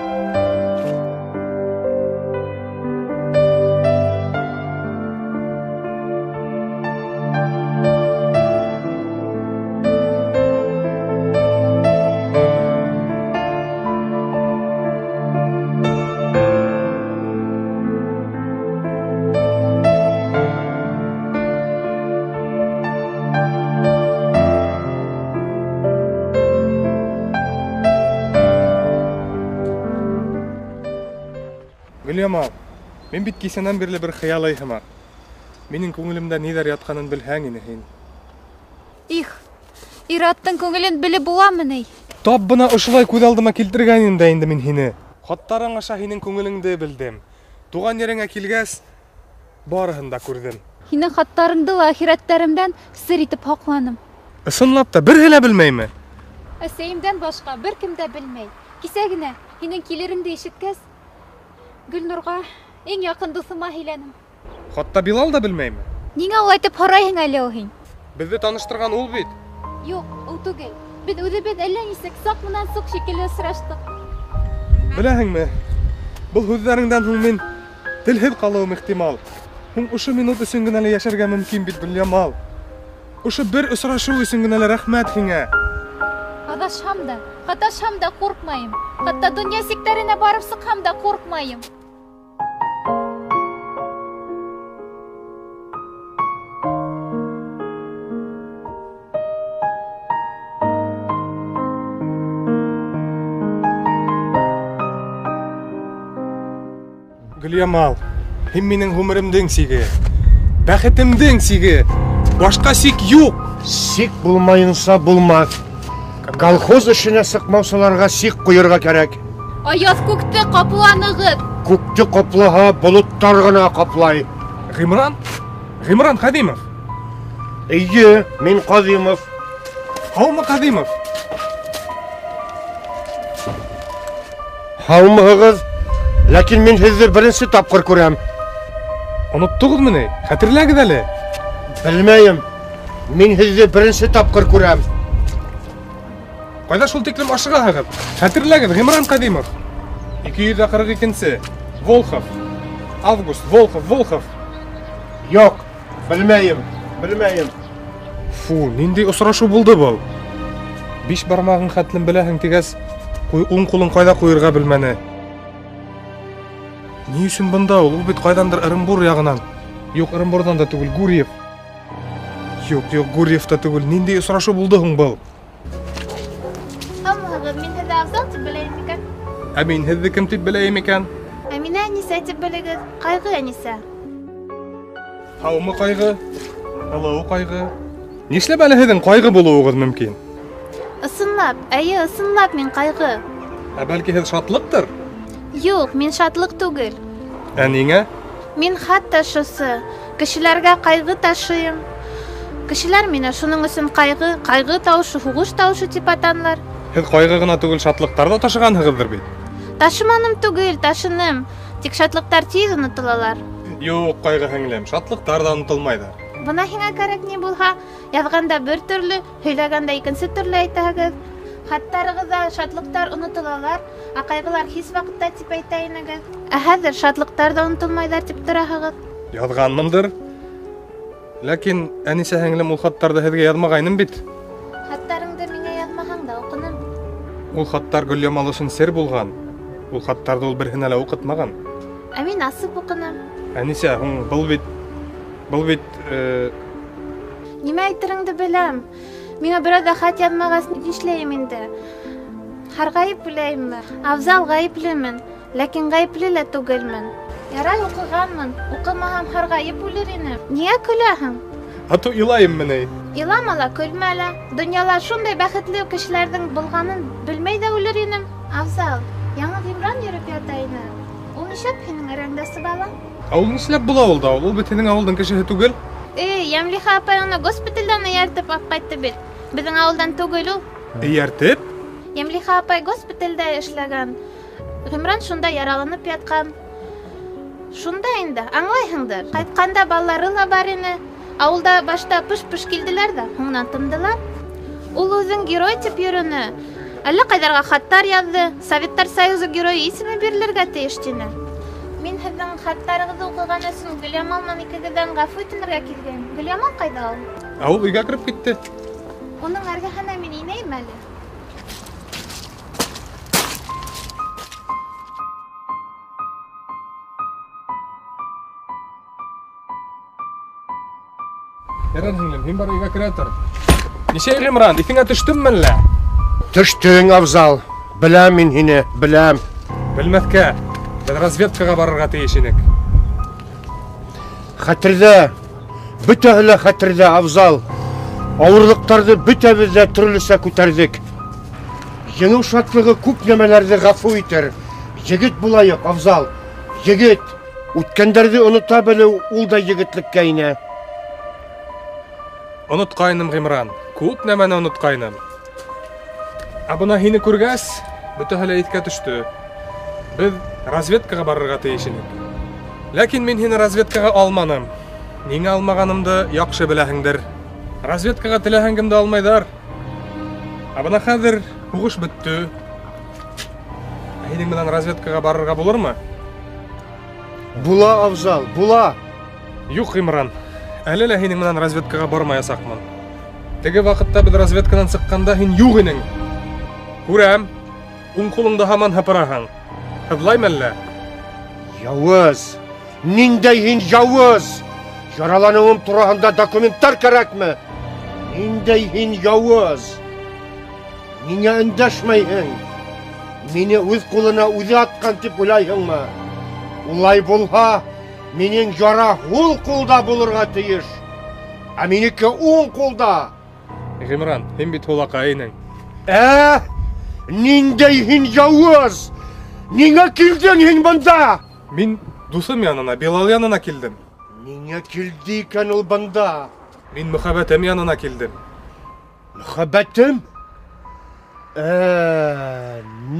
Гөлйамал, мин бит кисәнән бирле бер хыялый һымаҡ. Минең күңелемдә ниҙәр ятҡанын белһәң ине һин. Их, ир-аттың күңелен белеп буламы ни? Тап бына ошолай күҙ алдыма килтергән инем дә инде мин һине. Хаттарың аша һинең күңелеңде белдем. Туған ереңә килгәс, барыһын да күрҙем. Һинең хаттарыңды ла әхирәттәремдән сер итеп һаҡланым. Ысынлап та береһе лә белмәйме? Әсәйемдән башҡа бер кем дә белмәй. Кисә генә һинең килереңде ишеткәс, Гөлнурға, иң яҡын дуҫыма һөйләнем. Хатта Билал да белмәйме? Ниңә улай итеп һорайһың әле ул һин? Беҙҙе таныштырған ул бит. Юҡ, ул түгел. Беҙ үҙебеҙ әллә нисек саҡ менән суҡ шикелле осраштыҡ. Беләһеңме, был һүҙҙәреңдән һуң мин телһеҙ ҡалыуым ихтимал. Һуң ошо минут өсөн генә лә йәшәргә мөмкин бит, Гөлйамал. Ошо бер осрашыу өсөн генә лә рәхмәт һиңә. Аҙашһам да, һаташһам да ҡурҡмайым. Хатта донъя сиктәренә барып сыҡһам да ҡурҡмайым. Гөлйамал, һин минең ғүмеремдең сиге, бәхетемдең сиге. Башҡа сик юҡ. Сик булмайынса булмаҫ. Колхоз эшенә сыҡмаусыларға сик ҡуйырға кәрәк. Аяҙ күкте ҡапланығыҙ. Күкте ҡаплаһа, болоттар ғына ҡаплай. Ғимран? Ғимран Ҡәҙимов. Эйе, мин Ҡәҙимов. Һаумы, Ҡәҙимов? Һаумыһығыҙ? Ләкин мин һеҙҙе беренсе тапҡыр күрәм. Оноттоғоҙмо ни? Хәтерләгеҙ әле. Белмәйем. Мин һеҙҙе беренсе тапҡыр күрәм. Ҡайҙа шул тиклем ашығаһығыҙ? Хәтерләгеҙ, Ғимран Ҡәҙимов. 242-нсе. Волхов. Август, Волхов, Волхов. Юҡ, белмәйем, белмәйем. Фу, ниндәй осрашыу булды был? Биш бармағың хәтлем беләһең тигәс, уң ҡулын ҡайҙа ҡуйырға белмәне. Ни өсөн бында ул? Ул бит ҡайҙандыр Ырымбур яғынан. Юҡ, Ырымбурҙан да түгел, Гурьев. Юҡ, юҡ, Гурьев та түгел. Ниндәй осрашыу булды һуң был? Һаумыһығыҙ, мин һеҙҙе Афзал тип беләйем икән. Ә мин һеҙҙе кем тип беләйем икән? Ә мине Әнисә тип белегеҙ. Ҡайғы Әнисә. Һаумы, Ҡайғы? Һылыу Ҡайғы. Нишләп әле һеҙҙең ҡайғы булыуығыҙ мөмкин? Ысынлап, эйе, ысынлап мин ҡайғы. Ә бәлки һеҙ шатлыҡтыр? Юҡ, мин шатлыҡ түгел. Ә ниңә? Мин хат ташыусы. Кешеләргә ҡайғы ташыйым. Кешеләр мине шуның өсөн ҡайғы, ҡайғы тауышы, һуғыш тауышы тип атанылар. Һеҙ ҡайғы ғына түгел, шатлыҡтар ҙа ташығанһығыҙҙыр бит? Ташыманым түгел, ташыным. Тик шатлыҡтар тиҙ онотолалар. Юҡ, ҡайғы һеңлем, шатлыҡтар ҙа онотолмайҙар. Бына һиңә кәрәк ни булһа, яҙғанда бер төрлө, һөйләгәндә икенсе төрлө әйтәһегеҙ. Хаттарығыҙҙа шатлыҡтар онотолалар, ә ҡайғылар һис ваҡытта тип әйтә инегеҙ. Ә хәҙер шатлыҡтар ҙа онотолмайҙар тип тораһығыҙ. Яҙғанмындыр. Ләкин Әнисә һеңлем ул хаттарҙы һеҙгә яҙмағайным бит. Хаттарыңды миңә яҙмаһаң да уҡыным. Ул хаттар Гөльямал өсөн сер булған. Ул хаттарҙы ул береһенә лә уҡытмаған. Ә мин асып уҡыным. Әнисә, һуң был бит Нимә әйтереңде беләм. Миңа берәү ҙә хат яҙмағас, нишләйем инде? Һарғайып үләйемме? Афзал, ғәйеплемен, ләкин ғәйепле лә түгелмен. Ярай уҡығанмын, уҡымаһам һарғайып үлер инем. Ниңә көләһең? А то илайыммы ни? Илама ла, көлмә лә. Донъяла шундай бәхетле кешеләрҙең булғанын белмәй ҙә үлер инем. Афзал, яңы Ғимран йөрөп ята ине. Ул нишләп һинең эргәңдә сыбала? Ә ул нишләп була ул да? Ул бит һинең ауылдың кешеһе түгел. Эй, Йәмлиха апай уны госпиталдән эйәртеп алып ҡайтты бит. Беҙҙең ауылдан түгел ул. Эйәртеп? Йәмлиха апай госпиталдә эшләгән. Ғимран шунда яраланып ятҡан. Шунда инде, аңлайһыңдыр. Ҡайтҡанда балалары ла бар ине. Ауылда башта пыш-пыш килделәр ҙә, һуңынан тымдылар. Ул үҙен герой тип йөрөнө. Әллә ҡайҙарға хаттар яҙҙы. Советтар Союзы геройы исеме бирелергә тейеш тине. Мин һеҙҙең хаттарығыҙҙы уҡыған өсөн Гөльямал менән икегеҙҙән ғәфү үтенергә килгән. Гөльямал ҡайҙа ул? Ә ул өйгә кереп китте. Уның эргәһенә мин инәйем әле. Ярар, һеңлем, һин бар өйгә керә тор. Нисә Ғимран, иҫеңә төштөммө әллә? Төштөң, Афзал. Беләм мин һине, беләм. Белмәҫкә. Беҙ разведкаға барырға тейеш инек. Хәтерҙә, бөтәһе лә хәтерҙә, Афзал. Ауырлыҡтарҙы бөтәбеҙ ҙә төрлөсә күтәрҙек. Еңеү шатлығы күп нәмәләрҙе ғәфү итер. Егет булайыҡ, Афзал. Егет. Үткәндәрҙе онота белеү ул да егетлеккә инә. Онотҡайным, Ғимран. Күп нәмәне онотҡайным. Ә бына һине күргәс, бөтәһе лә иҫкә төштө. Беҙ разведкаға барырға тейеш инек. Ләкин мин һине разведкаға алманым. Ниңә алмағанымды яҡшы беләһеңдер. Разведкаға теләһәң кемде алмайҙар. Ә бына хәҙер һуғыш бөттө. Ә һинең менән разведкаға барырға булырмы? Була, Афзал, була. Юҡ, Ғимран. Әле лә һинең менән разведкаға бармаясаҡмын. Теге ваҡытта беҙ разведканан сыҡҡанда һин юҡ инең. Күрәм, уң ҡулыңды һаман һыпыраһың. Һыҙлаймы әллә? Яуыз! Ниндәй һин яуыз! Яраланыуым тураһында документтар кәрәкме? Ниндәй һин яуыз! Ниңә өндәшмәйһең? Мине үҙ ҡулына үҙе атҡан тип уйлайһыңмы? Улай булһа, минең яра һул ҡулда булырға тейеш, ә минеке уң ҡулда. Ғимран, һин бит һулаҡай инең. Ә? Ниндәй һин яуыз! Ниңә килдең һин бында? Мин дуҫым янына, Билал янына килдем. Ниңә килде икән ул бында? Мин мөхәббәтем янына килдем. Мөхәббәтем?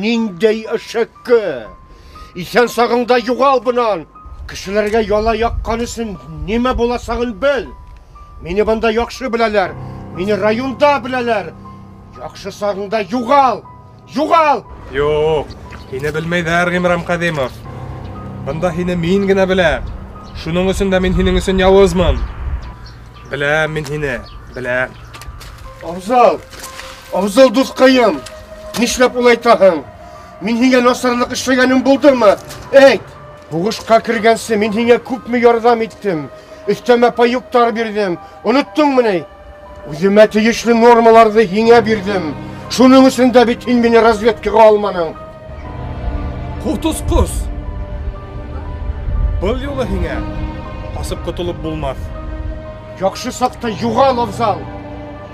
Ниндәй әшәке! Иҫән сағыңда юғал бынан! Кешеләргә яла яҡҡан өсөн нимә буласағын бел. Мине бында яҡшы беләләр, мине районда беләләр. Яҡшы сағыңда юғал! Юғал! Юҡ, һине белмәйҙәр, Ғимран Ҡәҙимов. Бында һине мин генә беләм. Шуның өсөн дә мин һинең өсөн яуызмын. Беләм мин һине, беләм. Афзал, Афзал дуҫҡайым, нишләп улай итәһең? Мин һиңә насарлыҡ эшләгәнем булдымы? Әйт! Һуғышҡа кергәнсе мин һиңә күпме ярҙам иттем, өҫтәмә паёктар бирҙем, оноттоңмо ни? Үҙемә тейешле нормаларҙы һиңә бирҙем. Шуның өсөн дә бит һин мине разведкаға алманың. Ҡотосҡос! Был юлы һиңә ҡасып ҡотолоп булмаҫ. Яҡшы саҡта юғал, Афзал.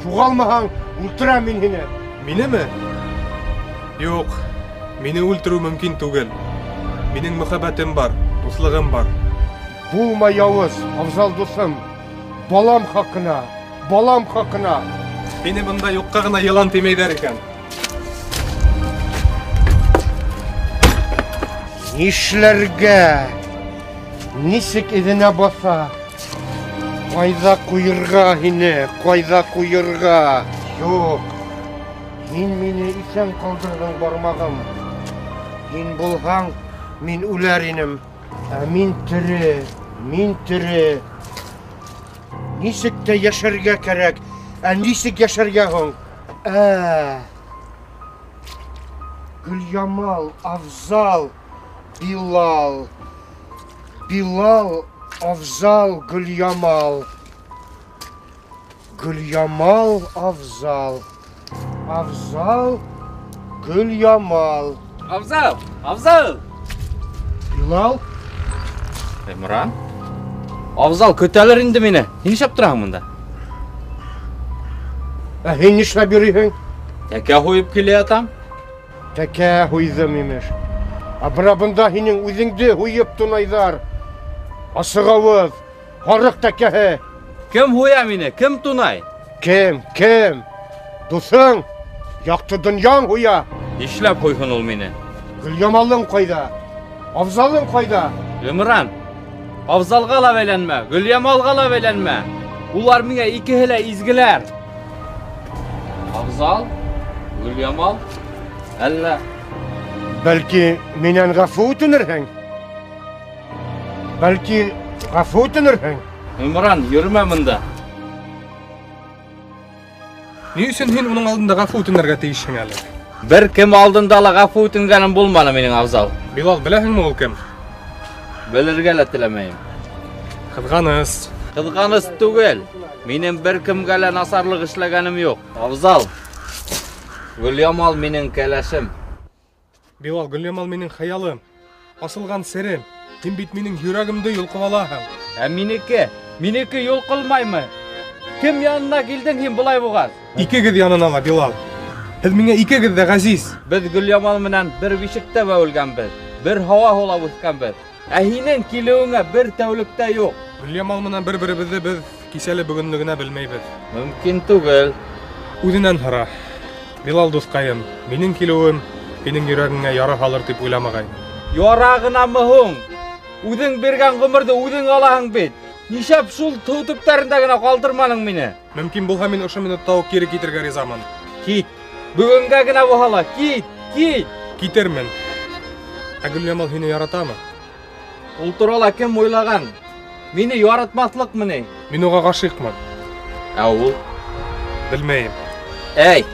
Юғалмаһаң, үлтерәм мин һине. Минеме? Юҡ, мине үлтереү мөмкин түгел. Минең мөхәббәтем бар, дуҫлығым бар. Булма яуыз, Афзал дуҫым. Балам хаҡына, балам хаҡына. Һине бында юҡҡа ғына йылан тимәйҙәр икән. Нишләргә? Нисек эҙенә баҫа? Ҡайҙа ҡуйырға һине, ҡайҙа ҡуйырға? Юҡ, һин мине иҫән ҡалдырҙың, бармағым. Һин булһаң, мин үләр инем. Ә мин тере, мин тере. Нисек тә йәшәргә кәрәк, ә нисек йәшәргә һуң? Гөльямал, Афзал, Билал. Билал, Афзал, Гөльямал. Гөльямал, Афзал. Афзал, Гөльямал. Афзал, Афзал. Билал. Имран. Афзал, көтәлер инде мине. Һин нишләп тораһың монда? Ә һин нишләп йөрөйһөң? Тәкә һуйып килә ятам. Тәкә һуйҙым имеш. Ә бына бында һинең үҙеңде һуйып тунайҙар. Асығауыҙ, һарыҡ тәкәһе. Кем һуя мине? Кем тунай? Кем? Кем? Дуҫың, яҡты донъяң һуя. Нишләп һуйһын ул мине? Гөльямалың ҡайҙа? Афзалың ҡайҙа? Имран, Афзалға ла бәйләнмә, Гөльямалға ла бәйләнмә. Улар миңә икеһе лә изгеләр. Афзал, Гөльямал, әллә? Бәлки минән ғәфү үтенерһең? Бәлки ғәфү үтенерһең? Имран, йөрөмә бында. Ни өсөн һин уның алдында ғәфү үтенергә тейешһең әле? Бер кем алдында ла ғәфү үтенгәнем булманы минең, Афзал. Билал, беләһеңме ул кем? Белергә лә теләмәйем. Ҡыҙғаныс. Ҡыҙғаныс түгел. Минең бер кемгә лә насарлыҡ эшләгәнем юҡ. Афзал, Гөльямал минең кәләшем. Билал, Гөльямал минең хыялым, асылған серем. Һин бит минең йөрәгемде йолҡоп алаһың. Ә минеке? Минеке йолҡолмаймы? Кем янына килдең һин былай булғас? Икегеҙ янына ла, Билал. Һеҙ миңә икегеҙ ҙә ғәзиз. Беҙ Гөльямал менән бер бишектә бәүелгәнбеҙ, бер һауа һулап үҫкәнбеҙ. Ә һинең килеүеңә бер тәүлектә юҡ. Гөльямал менән бер-беребеҙҙе беҙ кисәле бөгөнлө генә белмәйбеҙ. Мөмкин түгел. Үҙенән һора. Билал дуҫҡайым, минең килеүем һинең йөрәгеңә яра һалыр тип уйламағайным. Яра ғынамы һуң? Үҙең биргән ғүмерҙе үҙең алаһың бит. Нишләп шул тыу төптәрендә генә ҡалдырманың мине? Мөмкин булһа, мин ошо минутта уҡ кире китергә ризамын. Кит. Бөгөнгә генә булһа ла, кит, кит. Китермен. Ә Гөльямал һине яратамы? Ул турала кем уйлаған? Мине яратмаҫлыҡмы ни? Мин уға ғашиҡмын. Ә ул? Белмәйем. Әй!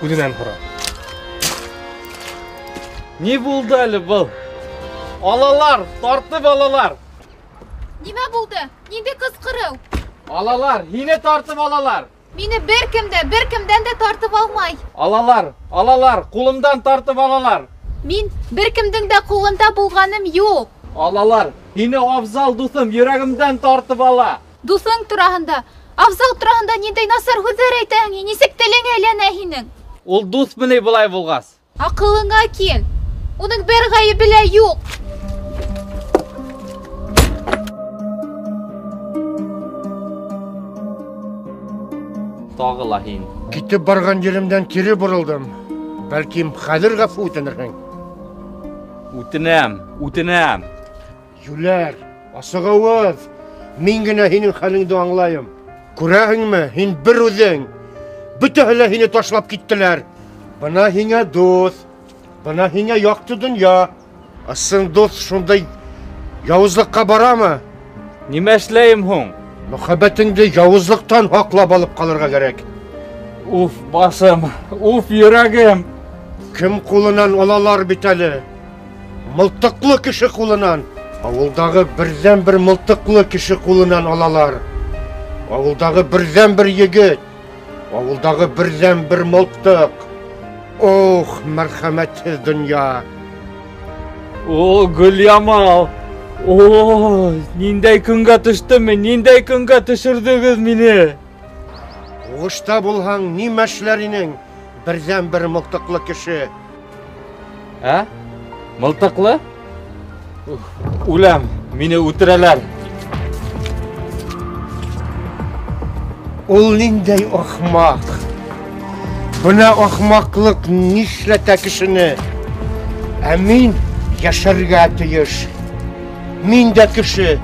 Үҙенән һора. Ни булды әле был? Алалар, тартып алалар. Нимә булды? Ниндәй ҡысҡырыу? Алалар, һине тартып алалар. Мине бер кем дә, бер кемдән дә тартып алмай. Алалар, алалар, ҡулымдан тартып алалар. Мин бер кемдең дә ҡулында булғаным юҡ. Алалар, һине Афзал дуҫым йөрәгемдән тартып ала. Дуҫың тураһында, Афзал тураһында ниндәй насар һүҙҙәр әйтәһең, нисек телең әйләнә һинең? Ул дуҫмы ни былай булғас? Аҡылыңа кил. Уның бер ғәйебе лә юҡ. Тағы ла һин. Китеп барған еремдән кире боролдом. Бәлки, хәҙер ғәфү үтенерһең. Үтенәм, үтенәм. Юләр, асығауыҙ. Мин генә һинең хәлеңде аңлайым. Күрәһеңме, һин бер үҙең. Бөтәһе лә һине ташлап киттеләр. Бына һиңә дуҫ, бына һиңә яҡты донъя. Ысын дуҫ шундай яуызлыҡҡа барамы? Нимә эшләйем һуң? Мөхәббәтеңде яуызлыҡтан һаҡлап алып ҡалырға кәрәк. Уф, башым, уф, йөрәгем. Кем ҡулынан алалар бит әле? Мылтыҡлы кеше ҡулынан. Ауылдағы берҙән-бер мылтыҡлы кеше ҡулынан алалар. Ауылдағы берҙән-бер егет. Ауылдағы берҙән-бер мылтыҡ. Ох, мәрхәмәтһеҙ донъя. О, Гөльямал. О, ниндәй көнгә төштөм мин, ниндәй көнгә төшөрҙөгөҙ мине? Һуғышта булһаң, нимә эшләр инең? Берҙән-бер мылтыҡлы кеше. Ә? Мылтыҡлы? Үләм, мине үтерәләр. Ул ниндәй ахмаҡ? Бына ахмаҡлыҡ нишләтә кешене? Ә мин йәшәргә тейеш. Мин дә кеше.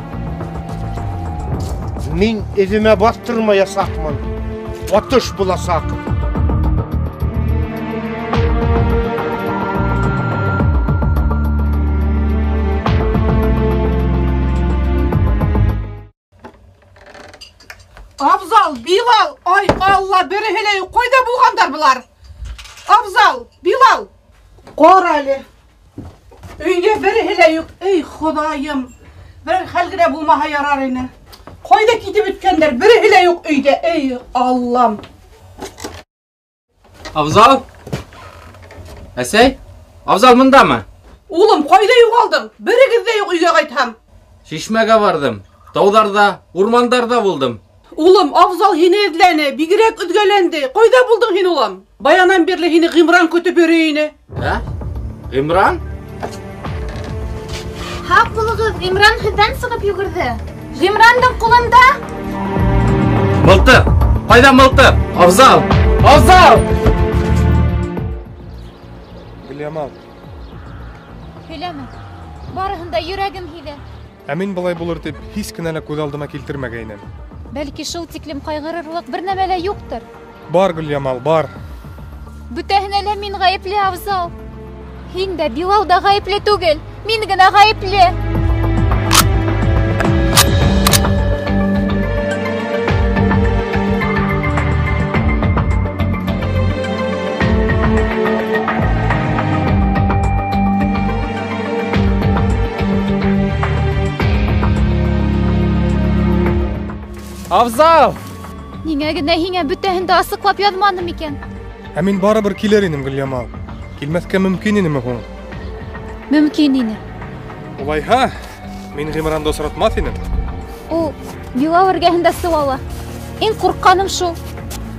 Мин эҙемә баҫтырмаясаҡмын. Атыш буласаҡ. Афзал, Билал, ай Алла, береһе лә юҡ. Ҡайҙа булғандар былар? Афзал, Билал, Ҡара әле. Өйҙә береһе лә юҡ. Эй, Хоҙайым. Берәр хәл генә булмаһа ярар ине. Ҡайҙа китеп бөткәндәр? Береһе лә юҡ өйҙә. Эй, Аллам. Абзал? Әсәй? Абзал мындамы? Улым, ҡайҙа юғалдың? Берегеҙ ҙә юҡ өйгә ҡайтһам. Шишмәгә барҙым. Тауҙарҙа, урмандарҙа булдым. Улым, Абзал һине эҙләне, бигерәк өҙгәләнде. Ҡайҙа булдың һин, улым? Баянан бирле һине Ғимран көтөп йөрөй ине. Ә? Ғимран? Һаҡ булығыҙ, Ғимран һеҙҙән сығып йүгерҙе. Ғимрандың ҡулында. Мылтыҡ! Ҡайҙа мылтыҡ? Абзал! Абзал! Гөлйамал. Һөйләмә. Барыһын да йөрәгем һиҙә. Ә мин былай булыр тип һис кенә лә күҙ алдыма килтермәгәйнем. Бәлки шул тиклем ҡайғырырлыҡ бер нәмә лә юҡтыр. Бар, Гөлйамал, бар. Бөтәһенә лә мин ғәйепле, Абзал. Һин дә, Билал да ғәйепле түгел. Мин генә ғәйепле. Абзал! Ниңә генә һиңә бөтәһен дә асыҡлап яҙманым икән? Ә мин барыбер килер инем, Гөлйамал. Килмәҫкә мөмкин инеме һуң? Мөмкин ине. Улайһа, мин Ғимранды осратмаҫ инем. Ул Билал эргәһендә сыуала. Иң ҡурҡҡаным шул.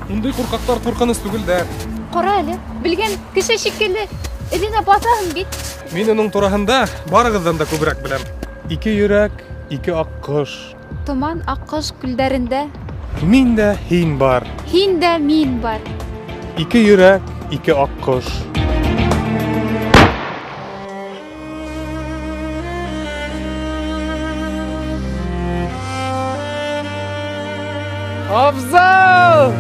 Ундай ҡурҡаҡтар ҡурҡыныс түгелдәр. Ҡара әле, белгән кеше шикелле эҙенә баҫаһың бит. Мин уның тураһында барығыҙҙан да күберәк беләм. Ике йөрәк, ике аҡҡош. Томан аҡҡош күлдәрендә. Мин дә һин бар. Һин дә мин бар. Ике йөрәк, ике аҡҡош. Абзал!